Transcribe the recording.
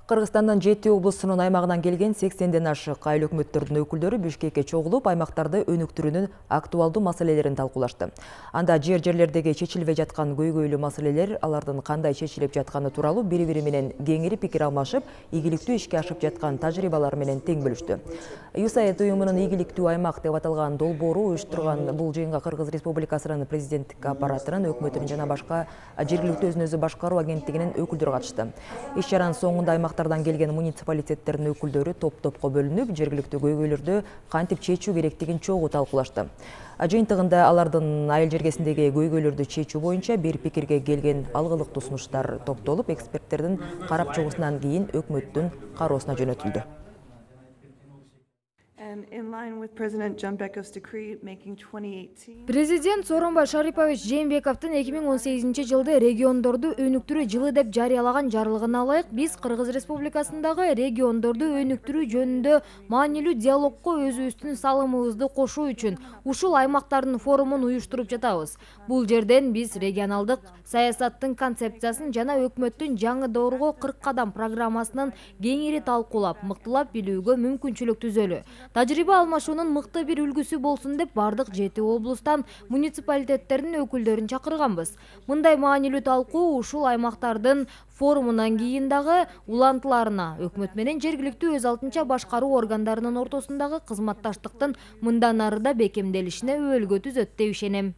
Кыргызстандын 7 облусунун аймагынан келген 80ден ашык айыл өкмөттөрдүн өкүлдөрү Бишкекке чогулуп, аймактарды өнүктүрүүнүн актуалдуу маселелерин талкуулашты. Анда жерлердеги чечилбей жаткан көйгөйлүү маселелер, алардын кандай чечилип жатканы тууралуу бири-бири менен кеңири пикир алмашып, ийгиликтүү ишке ашып жаткан тажрыйбалар менен тең бөлүштү. USAID уюмунун ийгиликтүү аймак деп аталган долбоору уюштурган бул жыйынга Кыргыз Республикасынын президенттик аппаратынын, өкмөтүнүн жана башка жергиликтүү өзүн-өзү башкаруу агенттигинин өкүлдөрү катышты. Иш-чаранын соңунда аймактардан келген муниципалитеттердин өкүлдөрү топ-топко бөлүнүп, жергиликтүү көйгөйлөрдү кантип чечүү керектигин чогуу талкуулашты. Жыйынтыгында алардын айыл жергесиндеги көйгөйлөрдү чечүү боюнча бир пикирге келген алгылыктуу сунуштар топтолуп, эксперттердин карап чыгуусунан кийин өкмөттүн кароосуна жөнөтүлдү. Президент Сооронбай Шарипович Жээнбековдун 2018-жылды региондорду өнүктүрүү жылы деп жарыялаган жарлыгына ылайык биз Кыргыз Республикасындагы региондорду өнүктүрүү жөнүндө маанилүү диалогко өзүбүздүн салымыбызды кошуу үчүн ушул аймактардын форумун уюштуруп жатабыз. Бул жерден биз регионалдык саясаттын концепциясын жана өкмөттүн жаңы доорго 40 кадам программасынын кеңири талкуулап, мыктылап билүүгө мүмкүнчүлүк түзөлү. Тажрыйба алмашуунун мыкты бир үлгүсү болсун деп бардык 7 облустан муниципалитеттердин өкүлдөрүн чакырганбыз. Мындай маанилүү талкуу ушул аймактардын форумунан кийин дагы улантыларына, өкмөт менен жергиликтүү өз алтынча башкаруу органдарынын ортосундагы кызматташтыктын мындан ары да бекемделишине өбөлгө түзөт деп ишенем.